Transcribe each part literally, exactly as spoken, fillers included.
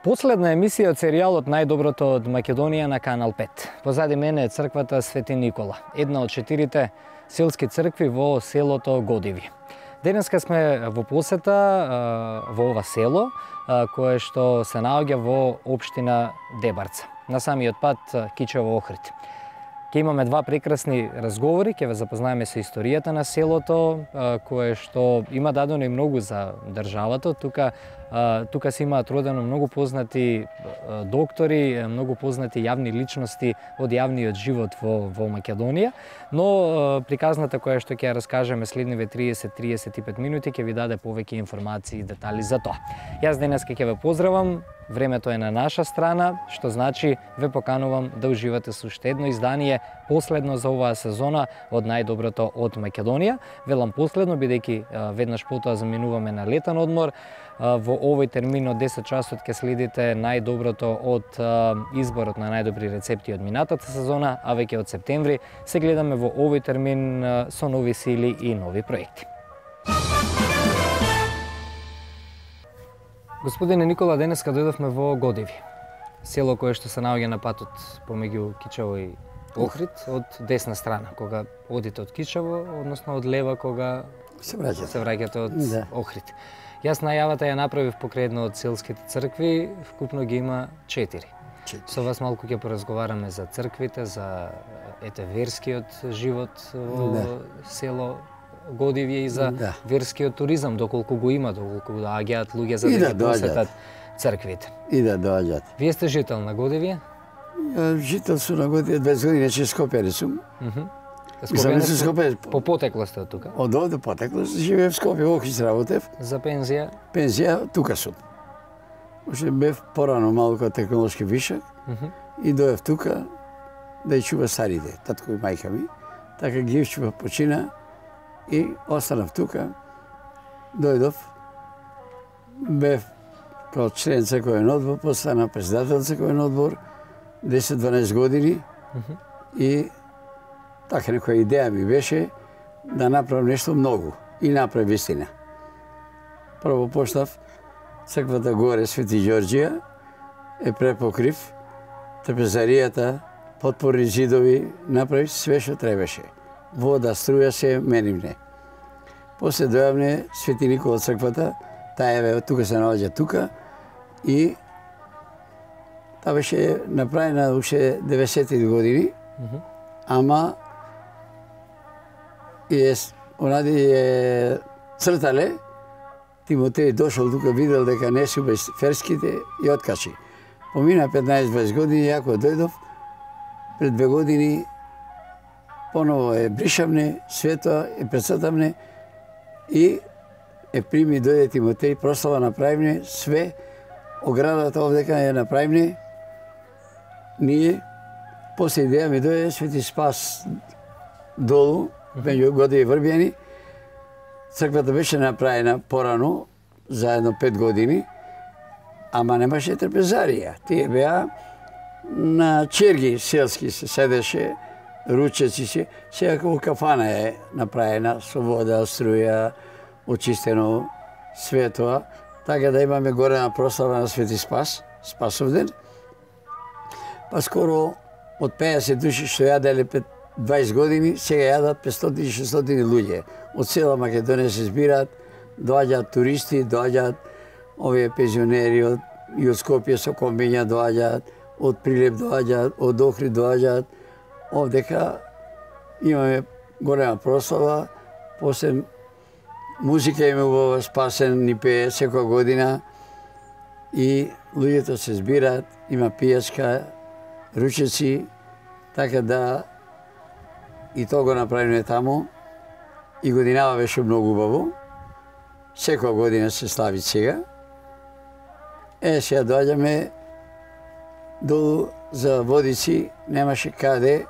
Последна емисија од серијалот Најдоброто од Македонија на Канал пет. Позади мене е црквата Свети Никола, една од четирите селски цркви во селото Годиви. Денеска сме во посета во ова село, кое што се наоѓа во општина Дебарца, на самиот пат Кичево-Охрид. Ке имаме два прекрасни разговори, ќе ве запознаеме со историјата на селото, кое што има дадено и многу за државата. Тука тука се имаат родено многу познати доктори, многу познати јавни личности од јавниот живот во во Македонија, но приказната која што ќе ја раскажеме следниве триесет до триесет и пет минути ќе ви даде повеќе информации и детали за тоа. Јас денеска ќе ве поздравам. Времето е на наша страна, што значи ве поканувам да уживате со уште едно издание, последно за оваа сезона од Најдоброто од Македонија. Велам последно, бидејќи веднаш потоа заминуваме на летен одмор. Во овој термин од десет часот ќе следите најдоброто од изборот на најдобри рецепти од минатата сезона, а веќе од септември се гледаме во овој термин со нови сили и нови проекти. Господине Никола, денеска дојдовме во Годиви, село кое што се наоѓа на патот помеѓу Кичево и Охрид, од десна страна, кога одите од Кичево, односно од лева кога се враќате, се враќате од да. Охрид. Јас најавата ја направив покрај една од селските цркви, вкупно ги има четири. четири. Со вас малку ќе поразговараме за црквите, за ете верскиот живот во да. село Годиви и за да. верскиот туризам, доколку го има, доколку доаѓаат луѓе за да, да посетат црквите. И да доаѓаат. Вие сте жител на Годиви? Жител сум на Годиви дваесет години, че Скопјани сум. Мхм. Скопје. По потекло сте од тука? Од овде потекло, живеев в Скопје, во Охрид работев. За пензија? Пензија, тука сум. Уште бев порано малку технолошки вишак и доев тука да ја чува старите, татко и мајка ми. Така ги чува почина. И останав тука, дојдов, бев као член црковен одбор, постана председател црковен одбор, десет до дванаесет години, mm -hmm. и така некоја идеја ми беше да направам нешто многу, и направи вистина. Прво почнав црквата горе Свети Ѓорѓија, е препокрив, трпезаријата, потпорни зидови, направи све што требаше. Вода, струја се менивне. После дојавне Свети Никола црквата, таа е тука се наоѓа тука и таа беше направена уште деветдесетти години, mm -hmm. ама е онади е цртале, Тимотеј дошол тука, видел дека не се ферските и откачи. Помина петнаесет до дваесет години, ја кога дојдов, пред две години поново е бришавне, свето е прецртавне и е прими, дојде Тимотеј, прослава направивне, све, оградата овдека е направивне. Ние, после идеја ми дојде Свети Спас долу, меѓу Годиви и Врбјани. Црквата беше направена порано, за едно пет години, ама немаше трпезарија. Тие беа на черги селски се седеше, ручеци се, сега како кафана е направена со вода, струја, очистено, све тоа, така да имаме голема прослава на Свети Спас, Спасовден. Па скоро од пеесет души што јаделе пред дваесет години, сега јадат петстотини до шестстотини луѓе. Од цела Македонија се збираат, доаѓаат туристи, доаѓаат овие пензионери од и од Скопје со комбиња доаѓаат, од Прилеп доаѓаат, од Охрид доаѓаат. Овдека имаме голема прослава, после музика има во Спасен, ни пее секоја година и луѓето се збираат, има пијачка, ручеци, така да и тоа го направиме таму и годинава беше многу убаво. Секоја година се слави сега. Е, сега доаѓаме долу за Водици, немаше каде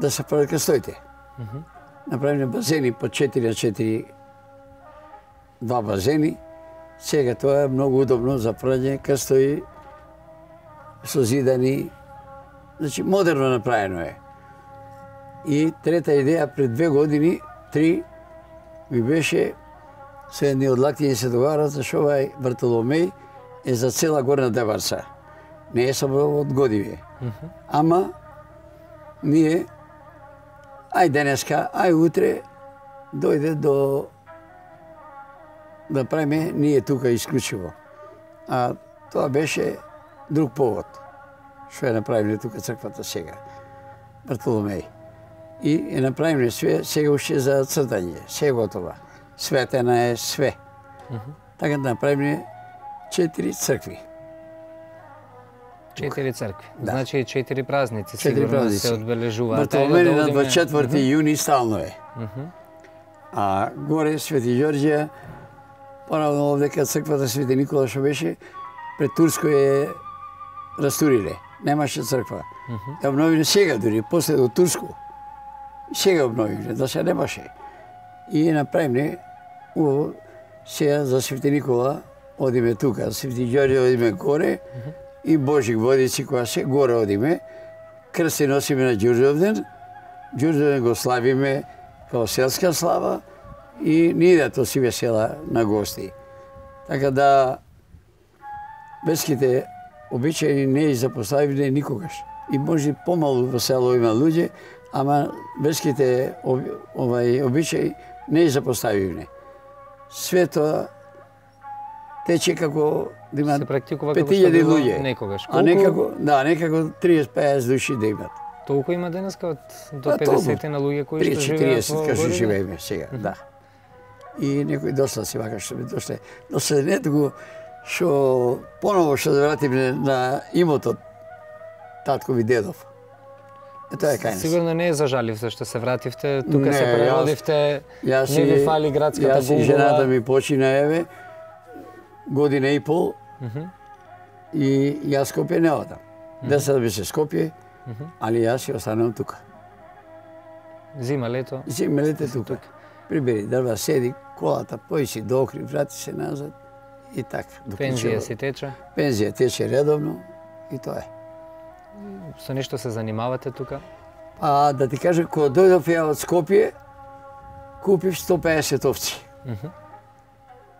да се прават кастоите. Mm -hmm. Направиме базени по четири на четири, два базени. Сега тоа е многу удобно за прање кастои, созидани, значи модерно направено е. И трета идеја пред две години, три, ми беше, се едни од лактињи се договарат, зашто овај Бартоломеј е за цела Горна Деварца. Не е само од Годиве. Mm -hmm. Ама, ние, ај денеска, ај утре, дојде до да правиме ние тука исклучиво. А тоа беше друг повод. Што е направиле тука црквата сега. Бартоломеј. И е направиле све, сега уште за цртање, се готова. Светена е све. Mm -hmm. Така да направиле четири цркви. Четири цркви. Да. Значи четири празници четири сигурно празници. се одбележуваат. Бартоломеј Да на одиме... дваесет и четврти mm -hmm. јуни стално е. Mm -hmm. А горе Свети Ѓорѓија, поравно овдека црквата Свети Никола што беше, пред Турско е растуриле. Немаше црква. Mm -hmm. Ја обновиле сега дури, после до Турско. Сега обновиле, да се немаше. И направиле убаво сега за Свети Никола одиме тука, Свети Ѓорѓе одиме горе, mm -hmm. и Божик Водици која се горе одиме. Крсти носиме на Ѓурѓовден, Ѓурѓовден го славиме као селска слава и ние да то си весела на гости. Така да верските обичаи не ги запоставивме никогаш. И може помалу во село има луѓе, ама верските овај обичаи не ги запоставивме. Све тоа тече како да имат се практикува пет како што илјади било луѓе. некогаш. А некако, да, некако триесет до пеесет души да имат. Толку има денеска од до А, педесет на луѓе кои што тридесет живеат четириесет во кажу Годиве? живееме сега, mm -hmm. да. И некои доста си вака што ми дошле. Но се не туку што поново што да вратиме на имотот таткови дедов. Е тоа е кај нас. Сигурно не е за жалив зашто се вративте, тука Не, се преродивте, Јас не ви фали градската Јас и гугла. жената ми почина еве година и пол. Mm -hmm. И јас Скопје не одам. Mm -hmm. Десет би се Скопје, mm -hmm. али јас ќе останам тука. Зима, лето? Зима, лето тука. Прибери дрва, седи, колата, пои си до Охрид, врати се назад и така. Пензија си тече? Пензија тече редовно и тоа е. Со нешто се занимавате тука? А да ти кажам, кога дојдов ја од Скопје, купив сто пеесет овци. Mm -hmm.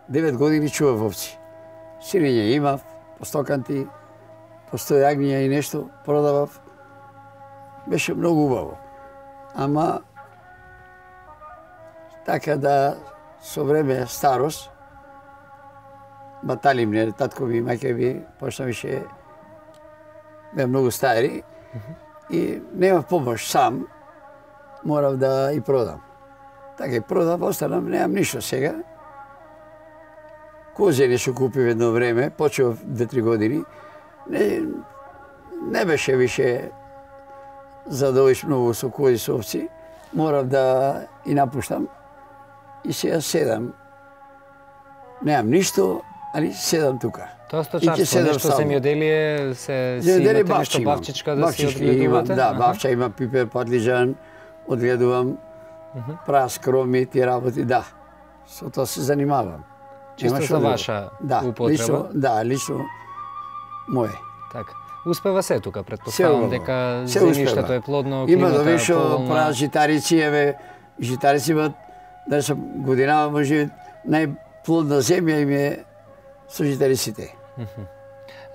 Девет години чував овци. Сирење имав, по сто канти, по сто јагниња и нешто продавав. Беше многу убаво. Ама така да со време старост баталим не таткови и маќеви, пошто више беа многу стари mm -hmm. и немав помош сам, морав да и продам. Така и продав, останам, немам ништо сега. Козе нешто купив едно време, почев две-три години. Не, не беше више задовиш многу со кози со овци. Морав да и напуштам. И сега седам. Немам ништо, али седам тука. Тоа сточарство, нешто земјоделие, се си земјоделие, имате нешто бавчичка да си одгледувате? Имам, да, бавча има пипер, патлиџан, одгледувам, uh -huh. прас, кроми, ти работи, да. Со тоа се занимавам. Чисто за ваша да, употреба? Лично, да, лично мое. Така. Успева се тука, претпоставам дека земјиштето е плодно, има климата да вишо поволна. прас, житарици, еве, житарици имат, да се годинава може најплодна земја им е со житариците.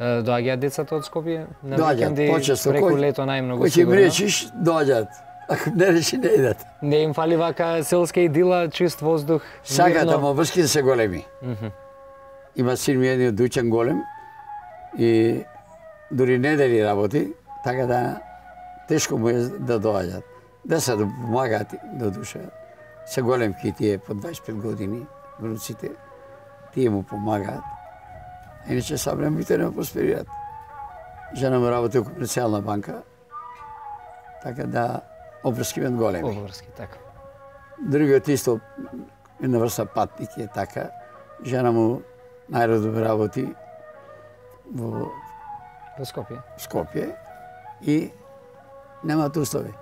Доаѓаат децата од Скопје на Доаѓаат, викенди, почесто. преку Кој- лето најмногу Кој ќе им сигурно? речиш, доаѓаат. Ако не речи, не идат. Не им фали вака селска идила, чист воздух, Сакаат, мирно? ама врските се големи. Мгм. Има син ми еден Дујчан голем и дури недели работи, така да тешко му е да доаѓаат. Деца да помагаат до душа. Се големки тие по дваесет и пет години, внуците, тие му помагаат. Иначе съвремените не просперират. Жена му работи у комерцијална банка, така да обврски мен големи. Обврски, така. Другиот исто една врста патник е така. Жена му најредовно работи во Во Скопје. Скопје и немаат услови.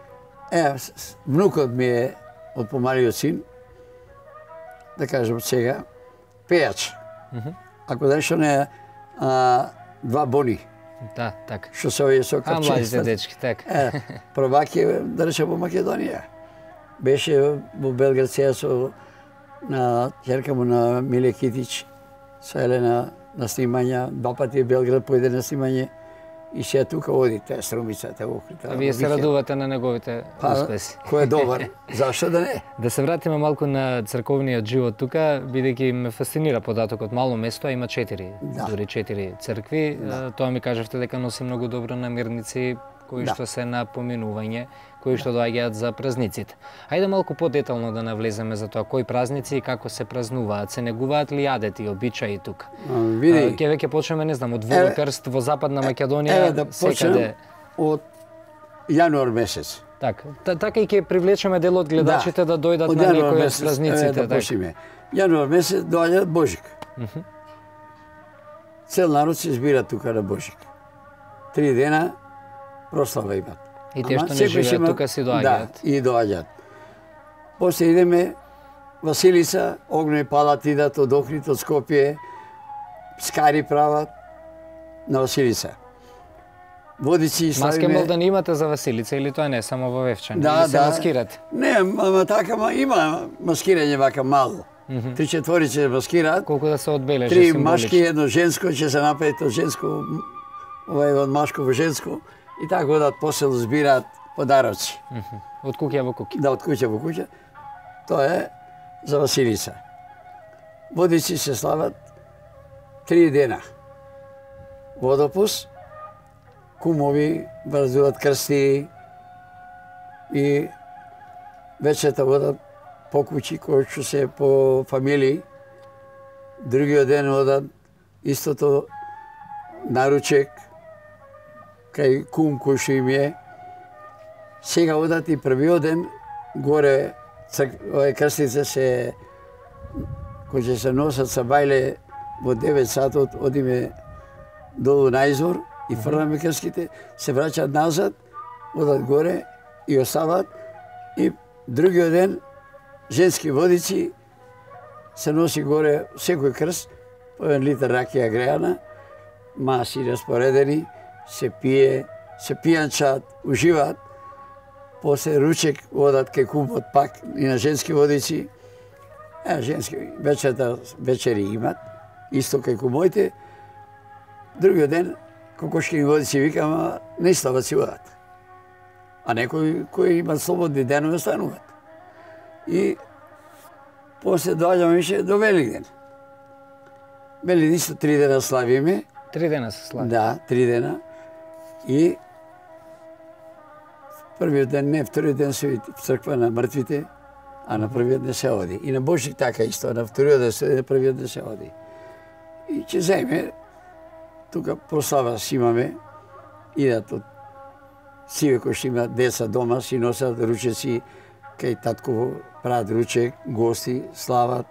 Е, с- с- внукот ми е од помалиот син, да кажем сега, пејач. Мгм. Ако нешто не а, два бони, Да, така. што се овие со А младите капченства. дечки, така. Е, првак е, да речем, во Македонија. Беше во Белград сега со на ќерка му на Миле Китич, со Елена на снимања, два пати в Белград појде на снимање и се тука оди таа Струмицата, Охрита. А вие се радувате на неговите успеси. Кој е добар, зашто да не? Да се вратиме малку на црковниот живот тука, бидејќи ме фасцинира податокот мало место, а има четири, да. дури четири цркви. Да. Тоа ми кажавте дека носи многу добро намирници кои да. што се на поминување, кои што доаѓаат за празниците. Хајде малку подетално да навлеземе за тоа кои празници и како се празнуваат, се негуваат ли јадети, обичаи тука. Види. Ке веќе почнеме, не знам, од Волокрст во Западна Македонија, еве да секаде од јануар месец. Така, така и ќе привлечеме дел од гледачите да, да дојдат на некои од празниците. Да почнеме. Јануар месец доаѓа Божик. Uh -huh. Цел народ се збира тука на Божик. Три дена прослава имат. И тие што не живеат тука си доаѓаат. Да, и доаѓаат. После идеме Василица, огнени палат идат од Охрид, од Скопје, скари прават на Василица. Водици славиме. Маски мол да не имате за Василица или тоа не само во Вевчани? Да, или се да. маскирате? Не, ама така, ма, има маскирање вака мало. Mm -hmm. Три четворице маскираат. Колку да се одбележи Три символично. машки, едно женско, ќе се направи од женско, ова од машко во женско. И така одат посел збираат подароци. Mm -hmm. Од куќа во куќа. Да, од куќа во куќа. Тоа е за Василица. Водици се слават три дена. Водопус, кумови врзуваат крсти и вечерта одат по куќи, кои што се по фамилии. Другиот ден одат истото наручек, кај кум кој што им е. Сега одат и првиот ден горе овие крстица се кои ќе се носат са бајле во девет сатот, одиме долу на извор и фрламе крските, се враќаат назад, одат горе и остават и другиот ден женски водици се носи горе секој крст по еден литар ракија греана, маси распоредени, се пие, се пијанчат, уживаат. После ручек одат кај кумот пак и на женски водици. Е, женски вечерта вечери имат, исто кај кумоите. Другиот ден кокошкини водици викама на Истава си одат. А некои кои имат слободни денови стануваат. И после доаѓаме више до Великден. Великден исто три дена славиме. Три дена се слави. Да, три дена. И првиот ден, не, вториот ден се оди в црква на мртвите, а на првиот ден се оди. И на Божик така исто, на вториот ден се оди, на првиот ден се оди. И ќе заеме, тука прослава си имаме, идат од сиве кои што имаат деца дома, си носат ручеци, кај татко прават ручек, гости, слават,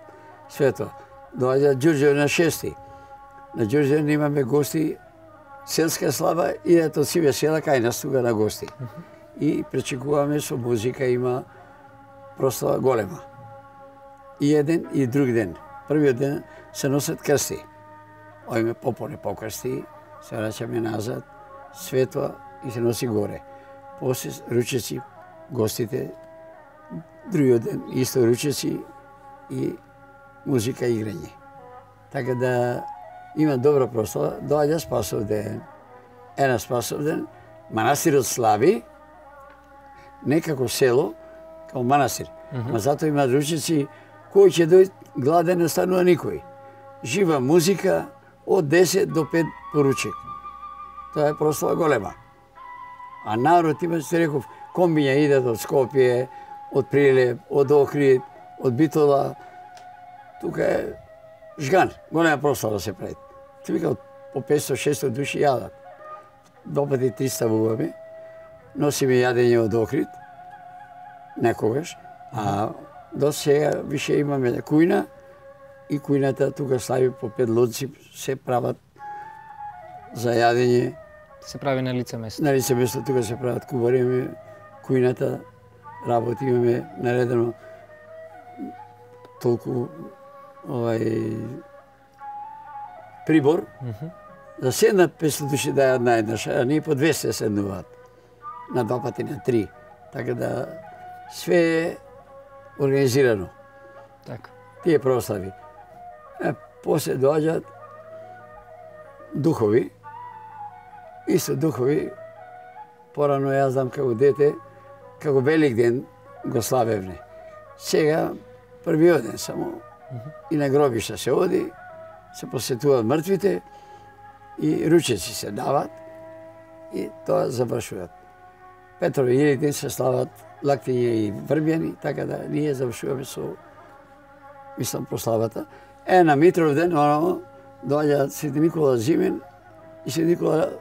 све тоа. Доаѓа Ѓурѓев на шести. На Ѓурѓев имаме гости, селска слава, идат од сиве села кај нас тука на гости. И пречекуваме со музика, има прослава голема. И еден и друг ден. Првиот ден се носат крсти. Ојме попоне покрсти, се враќаме назад, светла и се носи горе. После ручеци, гостите, другиот ден исто ручеци и музика и играње. Така да има добра прослава, доаѓа Спасов ден. Една Спасов ден, манастирот слави, некако село, као манастир. Mm -hmm. Ма затоа има ручеци, кој ќе дојде гладен не останува никој. Жива музика од десет до пет поручек. Тоа е прослава голема. А народ има, се реков, комбиња идат од Скопје, од Прилеп, од Охрид, од Битола. Тука е жган, голема прослава се прави. Ти вика по петсто-шесто души јадат. Два пати триста вуваме. Носиме јадење од Охрид, некогаш, а до сега више имаме кујна и кујната тука слави по пет лодци, се прават за јадење. Се прави на лице место. На лице место тука се прават кубари, кујната работи, имаме наредено толку овај прибор. Mm -hmm. За седнат петсто души да јадат наеднаш, а ние по двесте седнуваат. На два пати на три. Така да све е организирано. Така. Тие прослави. Е, после доаѓаат духови, исто духови, порано јас знам како дете, како Велик ден го славевне. Сега првиот ден само и на гробишта се оди, се посетуваат мртвите и ручеци се дават и тоа завршуваат. Петрови и Илик ден се слават лактиња и врбјани, така да ние завршуваме со, мислам, прославата. Е, на Митров ден, оно, доаѓа Свети Никола Зимен и Свети Никола,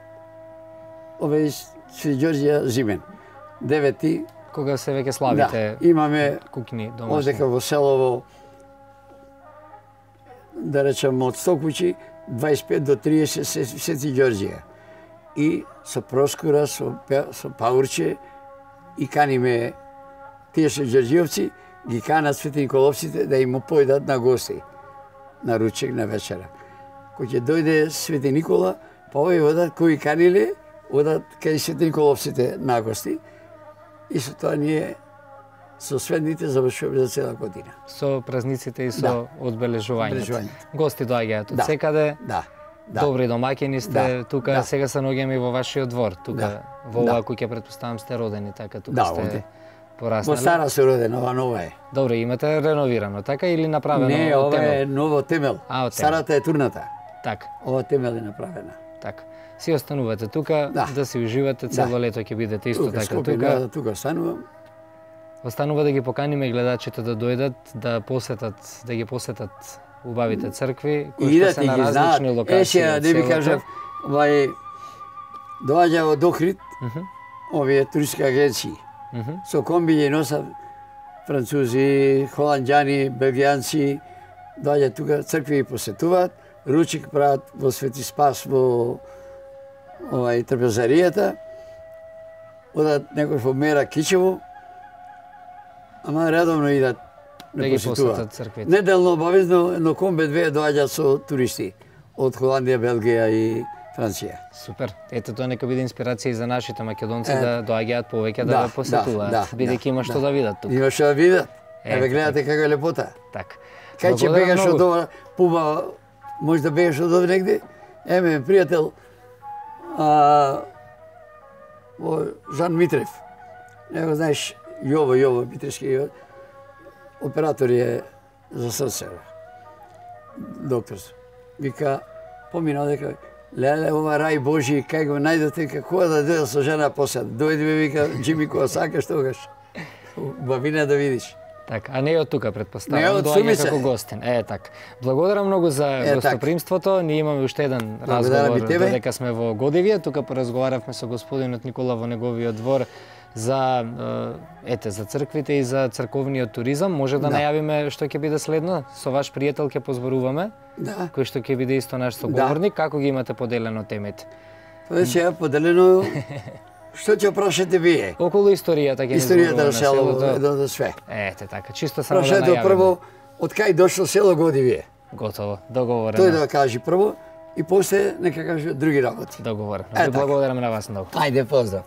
ове Свети Ѓорѓија Зимен. Девети. Кога се веќе славите, да, имаме кукини домашни. Одека во селово, да речем, од сто куќи, дваесет и пет до триесет Свети Ѓорѓија. И со Проскура, со, со Паурче, и каниме тие се ѓорѓиовци, ги канат Свети Николовците да им појдат на гости, на ручек, на вечера. Кој ќе дојде Свети Никола, па овој одат кои каниле, одат кај Свети Николовците на гости, и со тоа ние со сведните завршуваме за цела година. Со празниците и со да. одбележувањето. Гости доаѓаат од да. секаде. Да. Да. Добри домаќини сте, да. тука да. сега се наоѓаме и во вашиот двор, тука да. во оваа да. куќа претпоставам сте родени, така тука да, сте оде. пораснали. Во стара се роден, ова нова е. Добре, имате реновирано, така или направено Не, од ова темел? е ново темел. А, од темел. Старата е турната. Така. Ова темел е направена. Така. Си останувате тука, да, да си уживате, цело да. лето ќе бидете исто тука, така Скопје, тука. Да, тука останувам. Останува да ги поканиме гледачите да дојдат, да посетат, да ги посетат убавите цркви, кои што се на различни локации. Е, сега, не ви кажав, овај, доаѓа од Охрид, uh -huh. овие туристски агенции. Uh -huh. Со комби носат французи, холанѓани, белгијанци, доаѓаат тука, цркви ги посетуваат, ручик прават во Свети Спас, во овај трпезаријата, одат некој во Мера Кичево, ама редовно идат да ги посетат црквите. Неделно обавезно едно комбе две доаѓаат со туристи од Холандија, Белгија и Франција. Супер. Ето тоа нека биде инспирација и за нашите македонци е, да доаѓаат повеќе да, да ве посетуваат, да, бидејќи да, има што да, да видат тука. Има што да видат. Е, Еве гледате како е лепота. Така. Кај ќе бегаш од ова пуба, може да бегаш од овде негде? Еме пријател а, о, Жан Митрев. Не го знаеш, Јово, Јово Митревски, оператор е за срце. Доктор. Вика, помина дека леле, ова рај Божи, кај го најдете, како да дојде со жена посад. Дојде, вика, Джими, кога сакаш тогаш. Бавина да видиш. Така, а не од тука претпоставам, не од доаѓа Сумица. како гостин. Е, така. Благодарам многу за е, гостопримството. Ние имаме уште еден разговор додека сме во Годивје. Тука поразговаравме со господинот Никола во неговиот двор за ете за црквите и за црковниот туризам. Може да, да. најавиме што ќе биде следно? Со ваш пријател ќе позборуваме. Да. Кој што ќе биде исто наш соговорник. Да. Како ги имате поделено темите? Тоа е поделено. Што ќе прашате вие? Околу историјата ќе Историјата на селото, едно за све. Ете така, чисто само да најавиме. Прашете прво од кај дошло село Годивје. Готово, договорено. Тој да кажи прво и после нека каже други работи. Договорено. Ви благодарам на вас многу. Ајде, поздрав.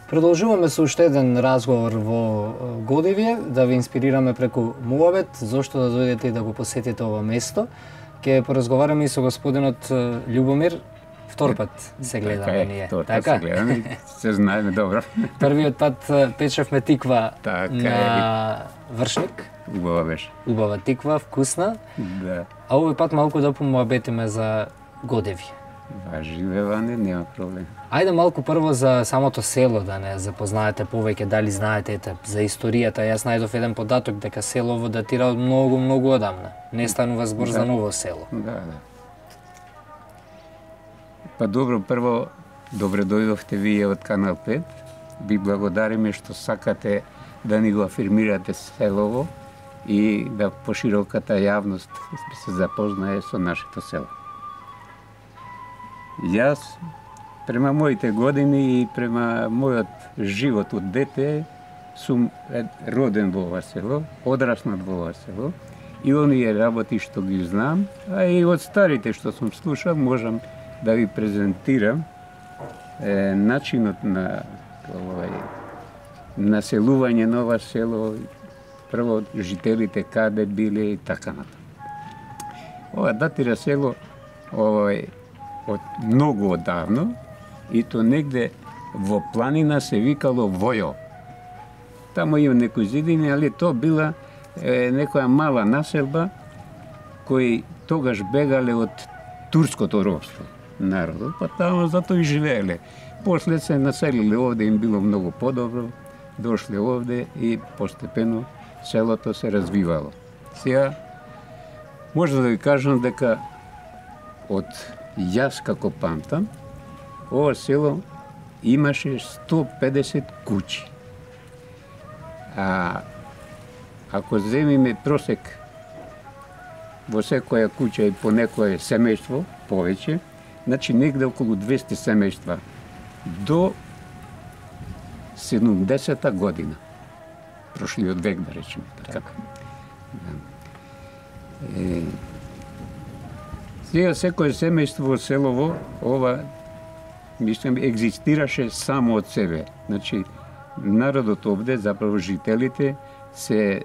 Продолжуваме со уште еден разговор во Годивје, да ви инспирираме преку муабет, зошто да дојдете и да го посетите ова место. Ке поразговараме и со господинот Љубомир. Втор пат се гледаме така ние. Втор така? Пат се гледаме, се знаеме добро. Првиот пат печевме тиква така на е. Вршник. Убава беше. Убава тиква, вкусна. Да. А овој пат малку да помуабетиме за Годивје. Живе ване, нема проблем. Ајде малку прво за самото село, да не запознаете повеќе, дали знаете ете, за историјата. Јас најдов еден податок дека селово датира од многу, многу одамна. Не станува збор да. за ново село. Да, да. Па добро, прво, добре дојдовте вие од Канал пет. Ви благодариме што сакате да ни го афирмирате селово и да пошироката јавност се запознае со нашето село. Јас, према моите години и према мојот живот од дете, сум роден во ова село, одраснат во ова село и оние работи што ги знам, а и од старите што сум слушал, можам да ви презентирам е, начинот на овај населување на ова село, прво жителите каде биле и така натаму. Ова датира село овој од многу одавно и то негде во планина се викало Војо. Тамо има некои зидини, али то била е, некоја мала населба кои тогаш бегале од турското робство народот, па тамо затоа и живееле. После се населиле овде, им било многу подобро, дошле овде и постепено селото се развивало. Сега може да ви кажам дека од јас како памтам, ова село имаше сто педесет куќи. А ако земиме просек во секоја куќа и по некое семејство повеќе, значи негде околу двесте семејства до седумдесета година. Прошлиот век, да речеме така. Да. Е, сега секое семејство во селово, ова, мислам, екзистираше само од себе. Значи, народот овде, заправо жителите, се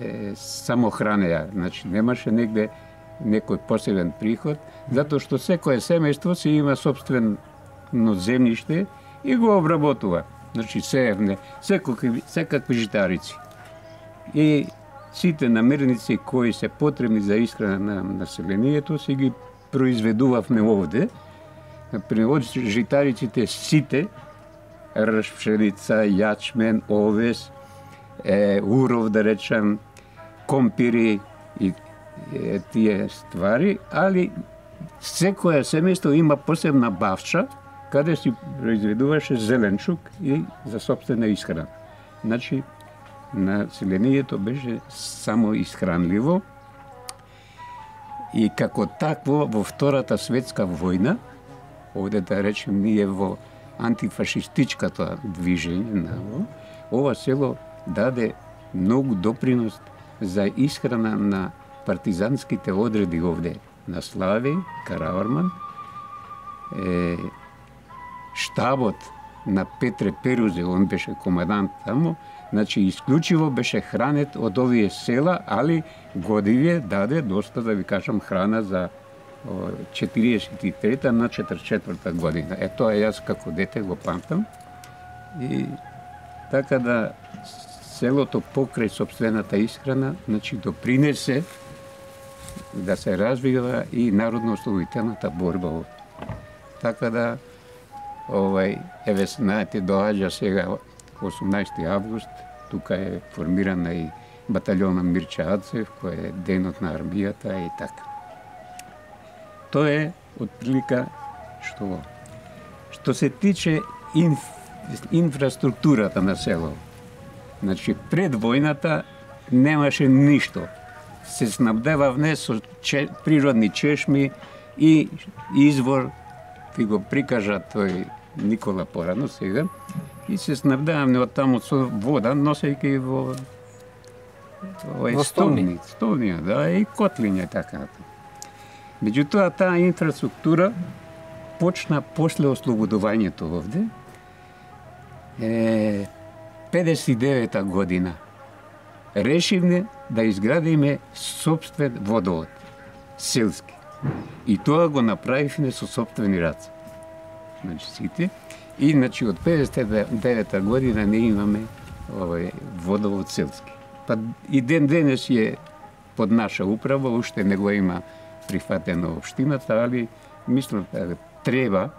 е, самохранеа. Значи, немаше негде некој посебен приход, затоа што секое семејство си има собствено земјиште и го обработува. Значи, сеевне, секакви, секакви житарици. И сите намирници кои се потребни за исхрана на населението си ги произведувавме овде. Например, од житариците сите, рж, пшеница, јачмен, овес, е, уров, да речем, компири и е, тие ствари, али секоја семејство има посебна бавча, каде си произведуваше зеленчук и за собствена исхрана. Значи, населението беше само исхранливо и како такво во Втората светска војна, овде да речем ние во антифашистичката движење на ова село даде многу допринос за исхрана на партизанските одреди овде на Слави, Караварман, е, штабот на Петре Перузе, он беше командант тамо, значи исклучиво беше хранет од овие села, али Годивје даде доста, да ви кажам, храна за четиридесет и трета на четридесет и четврта година. Е, тоа јас како дете го памтам. И така да селото покрај собствената исхрана, значи допринесе да се развива и народно-ослободителната борба. Така да, овај, еве знаете, доаѓа сега осумнаесети август, тука е формирана и баталјона Мирча Ацев, кој е денот на армијата и така. Тоа е отприлика што што се тиче инф, инфраструктурата на село. Значи пред војната немаше ништо. Се снабдевавме со че, природни чешми и извор, ви го прикажа тој Никола порано сега, и се снабдевавме од таму со вода, носејќи во овој столни, столнија, да, и котлиња така. Меѓутоа, таа инфраструктура почна после ослободувањето овде, е, педесет и девета година. Решивме да изградиме собствен водовод, селски. И тоа го направивме со собствени раце. Значи сите. И значи од педесет и девета година не имаме овој водовод селски. Па и ден денес е под наша управа, уште не го има прифатено општината, али мислам треба,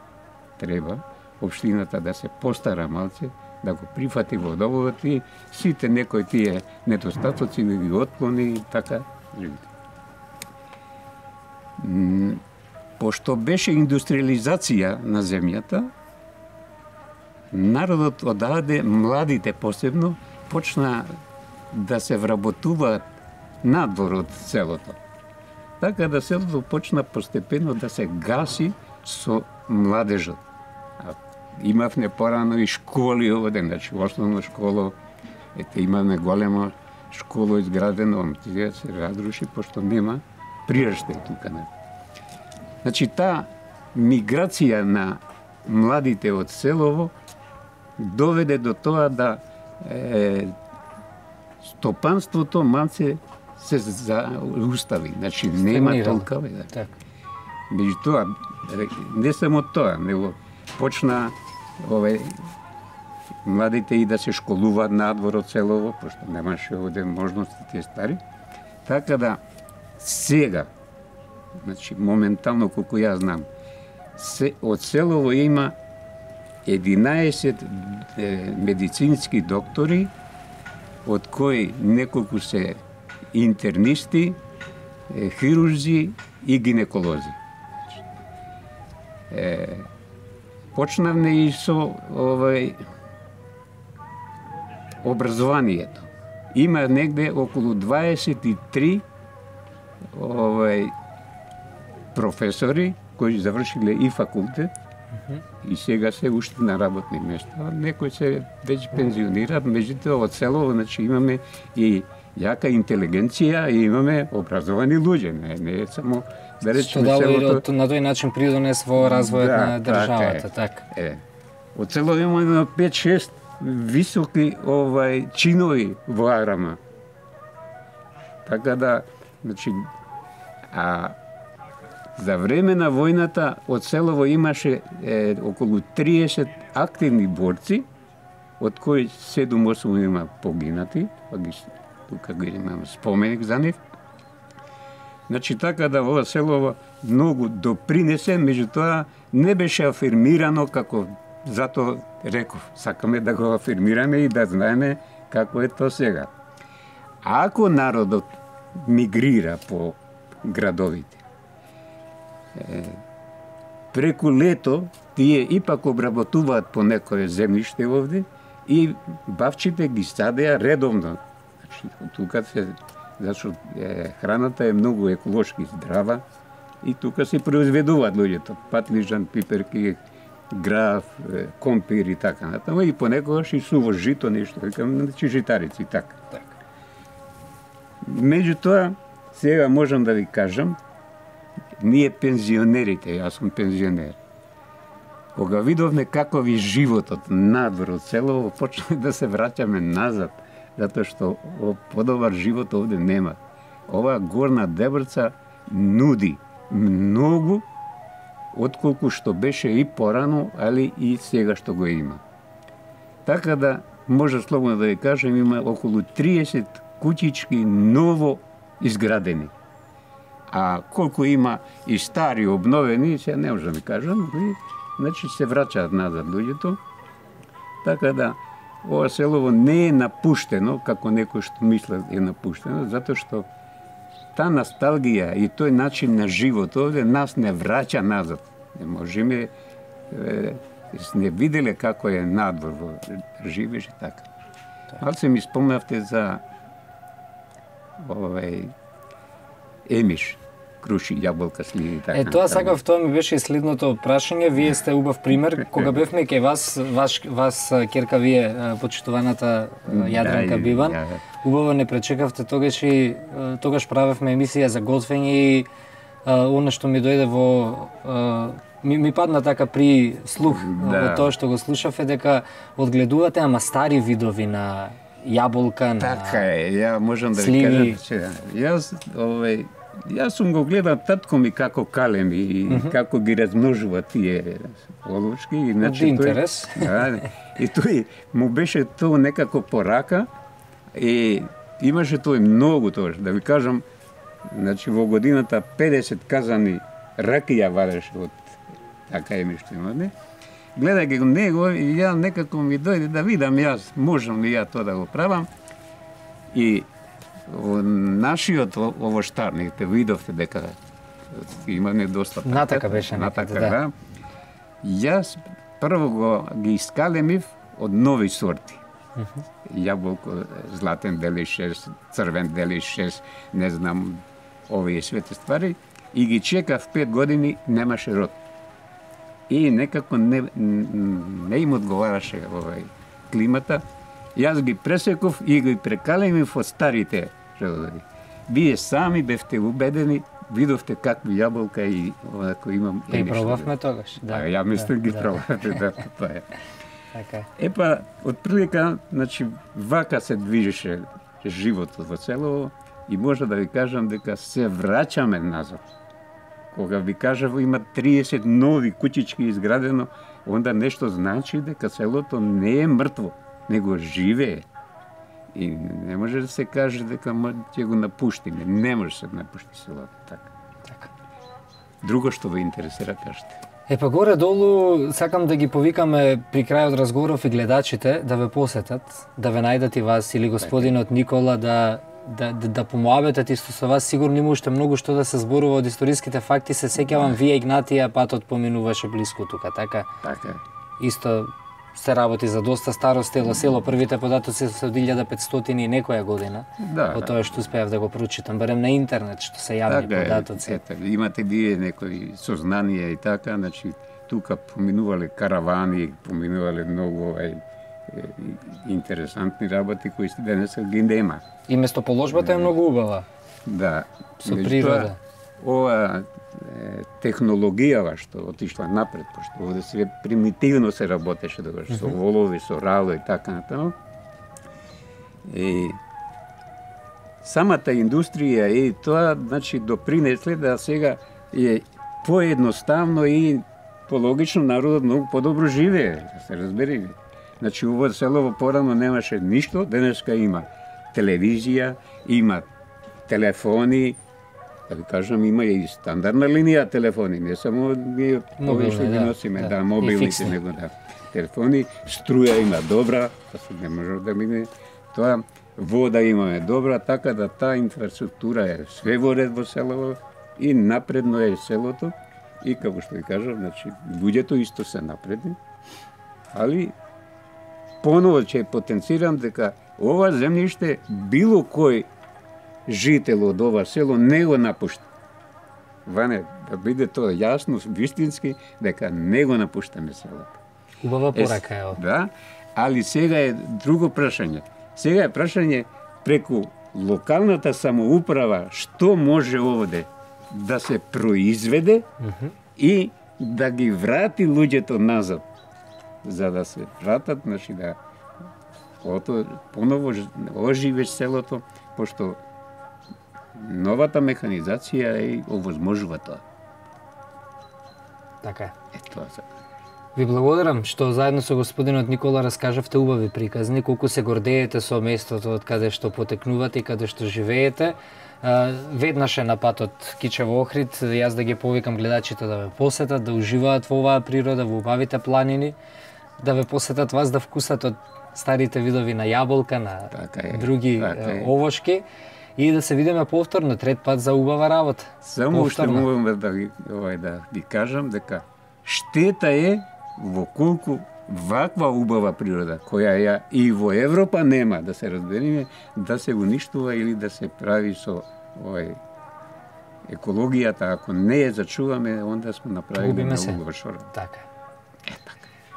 треба општината да се постара малце, да го прифати водоводот и сите некои тие недостатоци да ги отклони и така живите. Пошто беше индустриализација на земјата, народот одаде, младите посебно, почна да се вработуваат надвор од селото. Така да селото почна постепено да се гаси со младежот. А имавме порано и школи овде, значи основна школа, ете имавме голема школа изградена, сега се разруши, пошто нема прираштај тука. Не. Значи таа миграција на младите од селово доведе до тоа да е, стопанството малце се заустави. Значи нема толка. Да. Така. Меѓутоа, не само тоа, него почна овој младите и да се школуваат надвор од селово, пошто немаше овде можности тие ствари. Така да сега, значи моментално колку ја знам, се, од селово има единаесет е, медицински доктори, од кои неколку се интернисти, е, хирурзи и гинеколози. Е, почнавме и со овој образованието. Има негде околу дваесет и три овој професори кои завршиле и факултет, uh-huh. и сега се уште на работни места. Некои се веќе пензионираат, меѓутоа од селово, значи имаме и јака интелигенција и имаме образовани луѓе, не, не е само да речеме селото. Што на тој начин придонес во развојот да, на државата, така. така. Е. Од село имаме пет-шест високи овај чинови во Арама. Така да, значи, а за време на војната од селово имаше е, околу триесет активни борци, од кои седум-осум има погинати, па ги тука ги имам споменик за нив. Значи така да ова селово многу допринесе, меѓутоа не беше афирмирано како затоа реков, сакаме да го афирмираме и да знаеме како е тоа сега. А ако народот мигрира по градовите, е, преку лето тие ипак обработуваат по некое земјиште овде и бавчите ги садеа редовно. Значи, тука се, зашто е, храната е многу еколошки здрава и тука се произведуваат луѓето, патлижан, пиперки, граф, компир и така натаму, и понекогаш и суво жито нешто, викам, значи житарици, така. Так. Меѓутоа, сега можам да ви кажам, ние пензионерите, јас сум пензионер, кога видовме како ви животот надвор од селово, почне да се враќаме назад, затоа што подобар живот овде нема. Ова горна Дебрца нуди многу отколку што беше и порано, али и сега што го има. Така да, може слободно да ви кажем, има околу триесет куќички ново изградени. А колку има и стари обновени, се не можам да ви кажам, и, значи се враќаат назад луѓето. Така да, ова селово не е напуштено, како некој што мислат е напуштено, затоа што та носталгија и тој начин на живот овде нас не враќа назад. Не можеме, е, не виделе како е надвор во живееш и така. Ал се ми спомнавте за овој емиш, круши, јаболка, сливи и така. Е, тоа сакав, тоа ми беше и следното прашање. Вие сте убав пример. Кога бевме кај вас, ваш, вас керка вие, почитуваната Јадранка Биван, убаво не пречекавте, тогаш и тогаш правевме емисија за готвење и она што ми дојде во ми, ми падна така при слух да. Во тоа што го слушав е дека одгледувате ама стари видови на јаболка, на така е, ја можам да сливи. ви кажам, че јас овој јас сум го гледал татко ми како калеми и mm-hmm. како ги размножува тие олушки и значи интерес. Тој, да, и тој му беше тоа некако порака и имаше тој многу тоа, да ви кажам, значи во годината педесет казани ракија вареше од така е нешто има, не? Гледајќи го него, и ја некако ми дојде да видам јас, можам ли ја тоа да го правам. И во нашиот овоштарник, видовте дека имаме доста така. Натака беше натака, некаде, да. да. Јас прво го ги искалемив од нови сорти. Uh-huh. Јаболко, златен делишес, црвен делишес, не знам, овие свете ствари, и ги чекав пет години, немаше род. И некако не, не им одговараше овај климата. Јас ги пресеков и ги прекалемив од старите родови. Вие сами бевте убедени, видовте какви јаболка и ако имам... Ги пробавме тогаш, да. А, ја мислам да, ги да. пробавте, да, тоа е. Така. Епа, од прилика, значи, вака се движеше животот во село. И може да ви кажам дека се враќаме назад. Кога ви кажав има триесет нови куќички изградено, онда нешто значи дека селото не е мртво, него живее. И не може да се каже дека ќе го напуштиме. Не може да се напушти селото така. Така. Друго што ве интересира, кажете. Е па горе-долу сакам да ги повикаме при крајот разговоров и гледачите да ве посетат, да ве најдат и вас или господинот Никола да да да, да помоабетат исто со вас. Сигурно има уште многу што да се зборува од историските факти. Се сеќавам вие Игнатија патот поминуваше блиску тука, така? Така. Исто се работи за доста старо село, село. Првите податоци се од илјада петстотини и некоја година. Да, од тоа што успеав да го прочитам, барем на интернет, што се јавни така, податоци. Ете, имате вие некои сознанија и така, значи тука поминувале каравани, поминувале многу овај интересантни работи кои денес ги нема. И местоположбата е многу убава. Да. Со природа. Ова технологијава што отишла напред, пошто овде се примитивно се работеше тогаш, со волови, со рало и така натаму. И самата индустрија и тоа, значи, допринесле да сега е поедноставно и пологично народот многу подобро живее, да се разбери. Значи, ово село порано немаше ништо, денеска има телевизија, има телефони, да ви кажам, има и стандардна линија телефони, не само ние овие што ги носиме, да, да мобилните, него да. Телефони, струја има добра, да се не може да мине тоа, вода имаме добра, така да таа инфраструктура е све во ред во селото и напредно е селото. И како што ви кажам, значи, луѓето исто се напредни, али поново ќе потенцирам дека ова земјиште било кој жител од ова село не го напушта. Ване, да биде тоа јасно, вистински, дека не го напуштаме селото. Убава порака е ова. Да, али сега е друго прашање. Сега е прашање преку локалната самоуправа што може овде да се произведе mm -hmm. и да ги врати луѓето назад, за да се вратат, значи да ото поново оживеш селото, пошто новата механизација е овозможува тоа. Така е. Е тоа се. Ви благодарам што заедно со господинот Никола раскажавте убави приказни, колку се гордеете со местото од каде што потекнувате и каде што живеете. Веднаш е на патот Кичево Охрид, јас да ги повикам гледачите да ве посетат, да уживаат во оваа природа, во убавите планини, да ве посетат вас, да вкусат од старите видови на јаболка, на така е, други така овошки и да се видиме повторно трет пат за убава работа. Само уште можам да ви овај да ви кажам дека штета е во колку ваква убава природа, која ја и во Европа нема, да се разбериме, да се уништува или да се прави со овај екологијата, ако не ја зачуваме, онда сме направили многу лошо. Така е.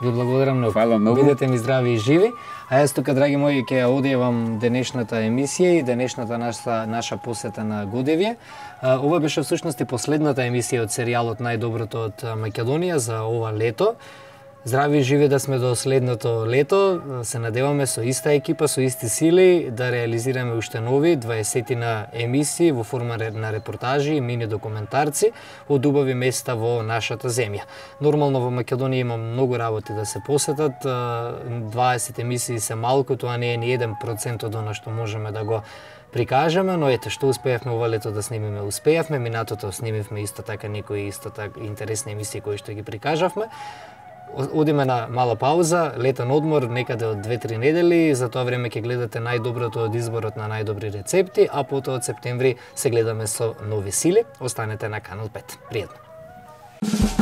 Ви благодарам многу. Фала многу. Бидете ми здрави и живи. А јас тука, драги мои, ќе ја одјавам денешната емисија и денешната наша, наша посета на Годевје. Ова беше всушност и последната емисија од серијалот Најдоброто од Македонија за ова лето. Здрави и живи да сме до следното лето. Се надеваме со иста екипа, со исти сили да реализираме уште нови дваесетина емисии во форма на репортажи и мини документарци од убави места во нашата земја. Нормално во Македонија има многу работи да се посетат. дваесет емисии се малку, тоа не е ни еден процент од она што можеме да го прикажеме, но ете што успеавме ова лето да снимиме, успеавме, минатото снимивме исто така некои исто така интересни емисии кои што ги прикажавме. Одиме на мала пауза, летен одмор некаде од две-три недели, за тоа време ќе гледате најдоброто од изборот на најдобри рецепти, а потоа од септември се гледаме со нови сили. Останете на Канал пет. Пријатно.